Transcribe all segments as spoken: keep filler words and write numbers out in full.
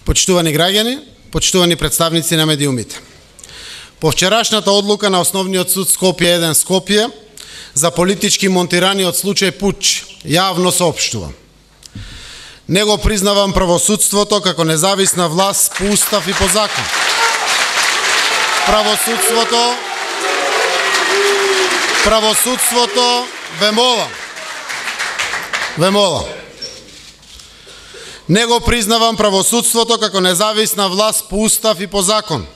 Почитувани граѓани, почитувани представници на медиумите. По вчерашната одлука на Основниот суд Скопје еден Скопје за политички монтираниот случај пуч јавно соопштувам. Не го признавам правосудството како независна власт по устав и по закон. Правосудството Правосудството ве молам. Ве молам. Не го признавам правосудството како независна власт по устав и по закон.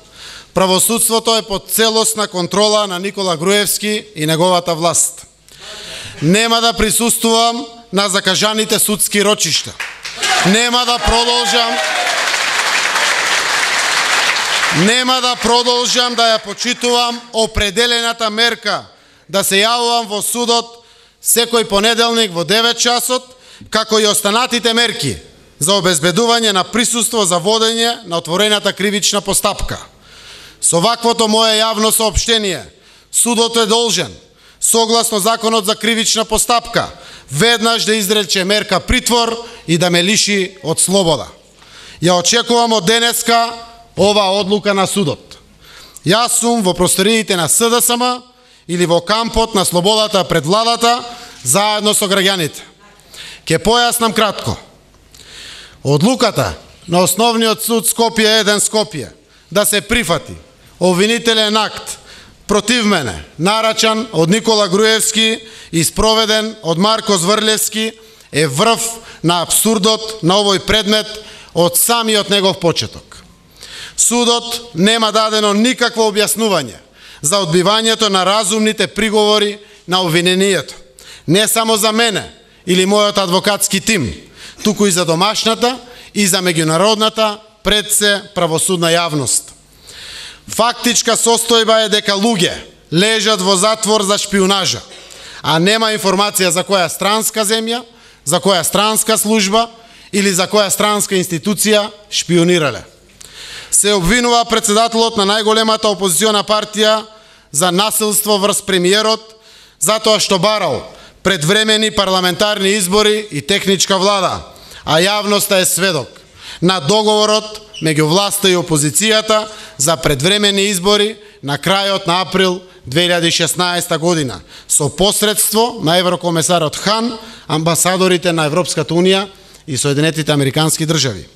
Правосудството е под целосна контрола на Никола Груевски и неговата власт. Нема да присуствувам на закажаните судски рочишта. Нема да продолжам Нема да продолжам да ја почитувам определената мерка да се јавувам во судот секој понеделник во девет часот, како и останатите мерки за обезбедување на присуство за водење на отворената кривична постапка. Со ваквото мое јавно соопштение, судот е должен, согласно Законот за кривична постапка, веднаш да изрече мерка притвор и да ме лиши од слобода. Ја очекувам од денеска ова одлука на судот. Јас сум во просториите на С Д С М или во кампот на слободата пред владата, заедно со граѓаните. Ке појаснам кратко. Одлуката на Основниот суд Скопје еден Скопје да се прифати обвинителен акт против мене, нарачан од Никола Груевски и спроведен од Марко Зврлевски, е врв на апсурдот на овој предмет од самиот негов почеток. Судот нема дадено никакво објаснување за одбивањето на разумните приговори на обвинението. Не само за мене или мојот адвокатски тим, туку и за домашната и за меѓународната пред се правосудна јавност. Фактичка состојба е дека луѓе лежат во затвор за шпионажа, а нема информација за која странска земја, за која странска служба или за која странска институција шпионирале. Се обвинува председателот на најголемата опозициона партија за насилство врз премиерот, затоа што барал предвремени парламентарни избори и техничка влада, а јавноста е сведок на договорот меѓу власта и опозицијата за предвремени избори на крајот на април две илјади и шеснаесета година со посредство на еврокомесарот Хан, амбасадорите на Европската унија и Соединетите американски држави.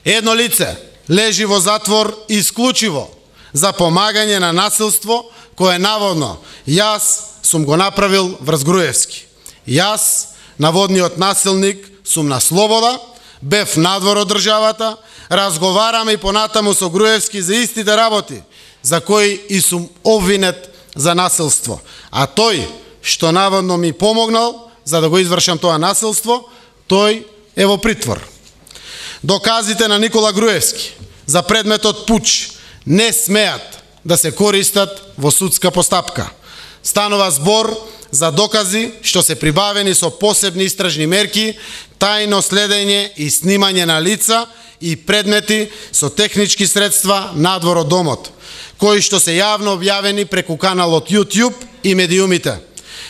Едно лице лежи во затвор исклучиво за помагање на насилство кое наводно јас сум го направил врз Груевски. Јас, наводниот насилник, сум на слобода, бев надвор од државата, разговараме и понатаму со Груевски за истите работи, за кои и сум обвинет за насилство. А тој, што наводно ми помогнал за да го извршам тоа насилство, тој е во притвор. Доказите на Никола Груевски за предметот пуч не смеат да се користат во судска постапка. Станува збор за докази што се прибавени со посебни истражни мерки, тајно следење и снимање на лица и предмети со технички средства надвор од домот, кои што се јавно објавени преку каналот YouTube и медиумите.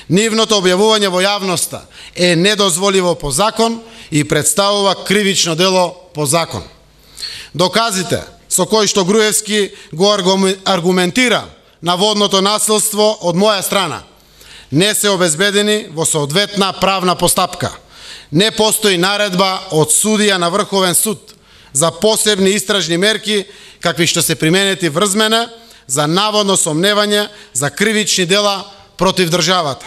Нивното објавување во јавноста е недозволиво по закон и представува кривично дело по закон. Доказите со кои што Груевски го аргументира наводното насилство од моја страна не се обезбедени во соодветна правна постапка. Не постои наредба од судија на Врховен суд за посебни истражни мерки какви што се применети врз мене за наводно сомневање за кривични дела против државата.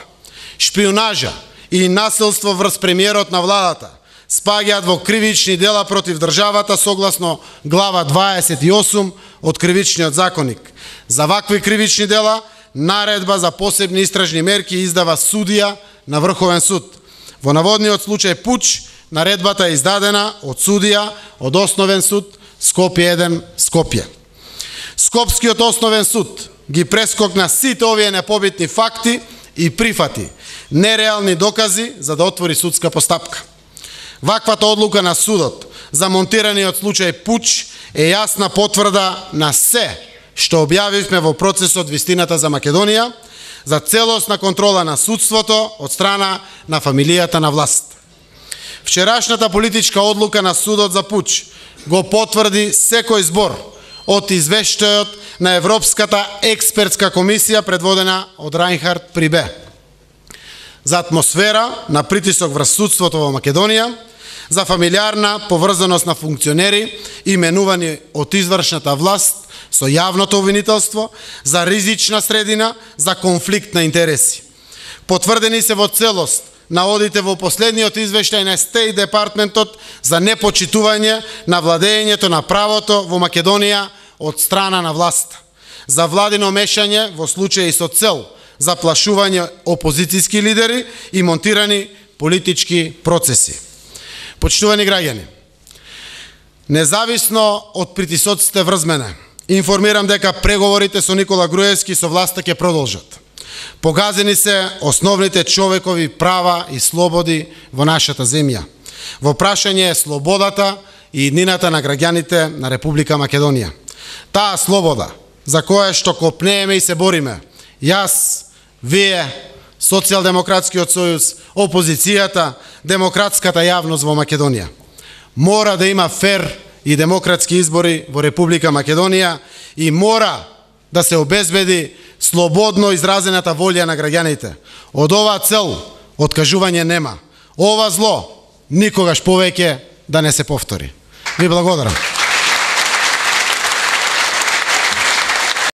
Шпионажа и насилство врз премиерот на владата спаѓаат во кривични дела против државата согласно глава дваесет и осум од Кривичниот законник. За вакви кривични дела наредба за посебни истражни мерки издава судија на Врховен суд. Во наводниот случај пуч наредбата е издадена од судија од Основен суд Скопје еден Скопје. Скопскиот Основен суд ги прескокна сите овие непобитни факти и прифати нереални докази за да отвори судска постапка. Ваквата одлука на судот за монтираниот случај пуч е јасна потврда на се што објавивме во процесот Вистината за Македонија за целосна контрола на судството од страна на фамилијата на власт. Вчерашната политичка одлука на судот за пуч го потврди секој збор од извештајот на Европската експертска комисија предводена од Рајнхард Прибе. За атмосфера на притисок врз судството во Македонија, за фамилиарна поврзаност на функционери именувани од извршната власт со јавното обвинителство, за ризична средина, за конфликт на интереси. Потврдени се во целост наводите во последниот извештај на Стејт Департментот за непочитување на владењето на правото во Македонија од страна на власта, за владино мешање во случаи со цел заплашување опозицијски лидери и монтирани политички процеси. Почитувани граѓани, независно од притисоците врз мене, информирам дека преговорите со Никола Груевски со власта ќе продолжат. Погазени се основните човекови права и слободи во нашата земја. Во прашање е слободата и иднината на граѓаните на Република Македонија. Таа слобода за која што копнееме и се бориме, јас, вие, Социјалдемократскиот сојуз, опозицијата, демократската јавност во Македонија. Мора да има фер и демократски избори во Република Македонија и мора да се обезбеди слободно изразената волја на граѓаните. Од оваа цел откажување нема. Ова зло никогаш повеќе да не се повтори. Ви благодарам.